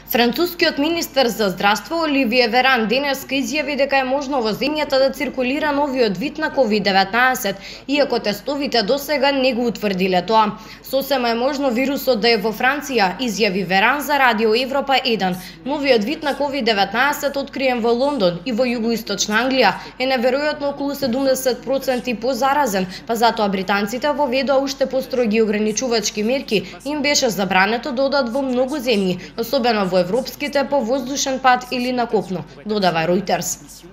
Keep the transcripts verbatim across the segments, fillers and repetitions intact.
Францускиот министер за здравство Оливие Веран денеска изјави дека е можно во земјата да циркулира новиот вид на ковид деветнаесет, иако тестовите досега не го утврдиле тоа. Сосема е можно вирусот да е во Франција, изјави Веран за Радио Европа еден. Новиот вид на ковид деветнаесет откриен во Лондон и во југоисточна Англија е неверојатно околу седумдесет проценти позаразен, па затоа британците воведоа уште построги ограничувачки мерки и им беше забрането да одат во многу земји, особено во европските по воздушен пат или на копно, додава Reuters.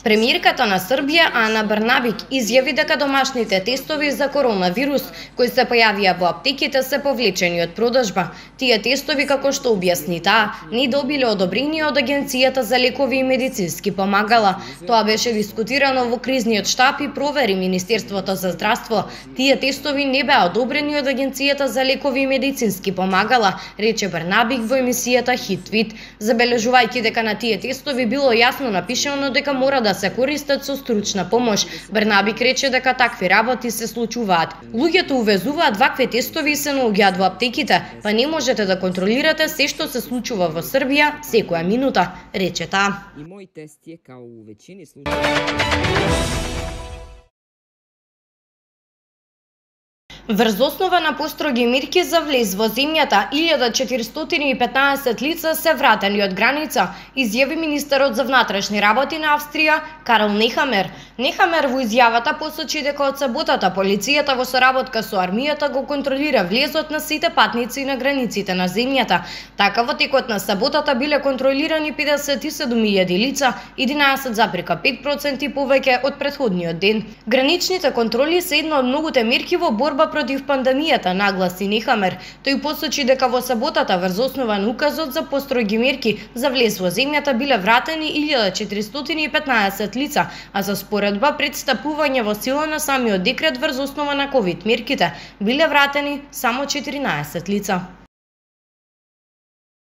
Премиерката на Србија Ана Брнабик изјави дека домашните тестови за коронавирус кои се појавија во аптеките се повлечени од продажба. Тие тестови, како што објасни таа, не добиле одобрение од Агенцијата за лекови и медицински помагала. Тоа беше дискутирано во кризниот штаб и провери Министерството за здравство. Тие тестови не беа одобрени од Агенцијата за лекови и медицински помагала, рече Брнабик во емисијата Хит-Твит, забележувајќи дека на тие тестови било јасно напишано дека мора да се користат со стручна помош. Брнабик рече дека такви работи се случуваат. Луѓето увезуваат вакви тестови и се наоѓаат во аптеките, па не можете да контролирате се што се случува во Србија секоја минута, рече таа. И мој тест е као у веќини случаи. Врз основа на построги мерки за влез во земјата, илјада четиристотини и петнаесет лица се вратени од граница, изјави министерот за внатрешни работи на Австрија Карл Нехамер. Нехамер во изјавата посочи дека од саботата полицијата во соработка со армијата го контролира влезот на сите патници на границите на земјата. Така во текот на саботата биле контролирани педесет и седум илјади лица, единаесет запирка пет проценти повеќе од претходниот ден. Граничните контроли се една од многуте мерки во борба против пандемијата, нагласи Нехамер. Тој посочи дека во саботата врз основа на указот за построги мерки за влез во земјата биле вратени илјада четиристотини и петнаесет лица, а за споредба пред стапување во сила на самиот декрет врз основа на ковид мерките биле вратени само четиринаесет лица.